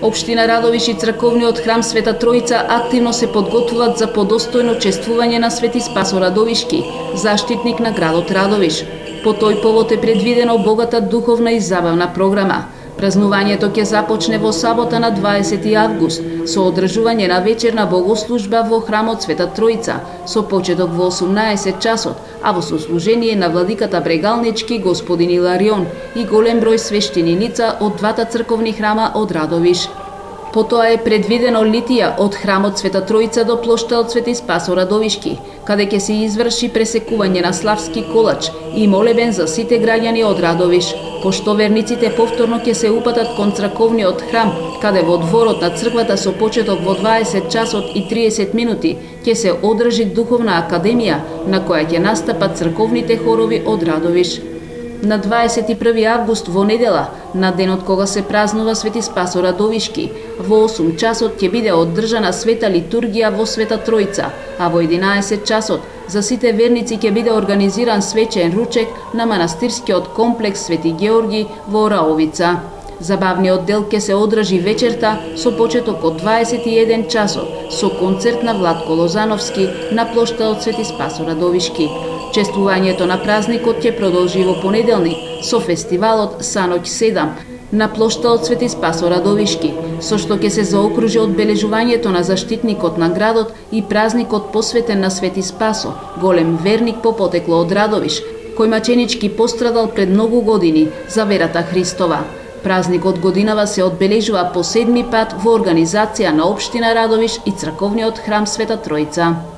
Општина Радовиш и црковниот храм Света Тројца активно се подготвуваат за подостојно чествување на Свети Спасо Радовишки, заштитник на градот Радовиш. По тој повод е предвидено богата духовна и забавна програма. Празнувањето ќе започне во сабота на 20 август со одржување на вечерна богослужба во храмот Света Тројца со почеток во 18 часот, а во сослужение на владиката Брегалнички господин Иларион и голем број свештени лица од двата црковни храма од Радовиш. Потоа е предвидено литија од храмот Света Тројца до плоштадот Свети Спасо Радовишки, каде ќе се изврши пресекување на славски колач и молебен за сите граѓани од Радовиш, пошто верниците повторно ќе се упатат кон црковниот храм, каде во дворот на црквата со почеток во 20 часот и 30 минути ќе се одржи духовна академија на која ќе настапат црковните хорови од Радовиш. На 21 август во недела, на денот кога се празнува Свети Спасо Радовишки, во 8 часот ќе биде одржана света литургија во Света Тројца, а во 11 часот за сите верници ќе биде организиран свечен ручек на манастирскиот комплекс Свети Георги во Раовица. Забавниот дел ќе се одржи вечерта со почеток од 21 часот со концерт на Владко Лозановски на плоштадот Свети Спасо Радовишки. Чествувањето на празникот ќе продолжи во понеделник со фестивалот Саноќ 7 на плоштадот Свети Спасо Радовишки, со што ќе се заокружи одбележувањето на заштитникот на градот и празникот посветен на Свети Спасо, голем верник по потекло од Радовиш, кој маченички пострадал пред многу години за верата Христова. Празникот годинава се одбележува по 7 пат во организација на Општина Радовиш и црковниот храм Света Тројца.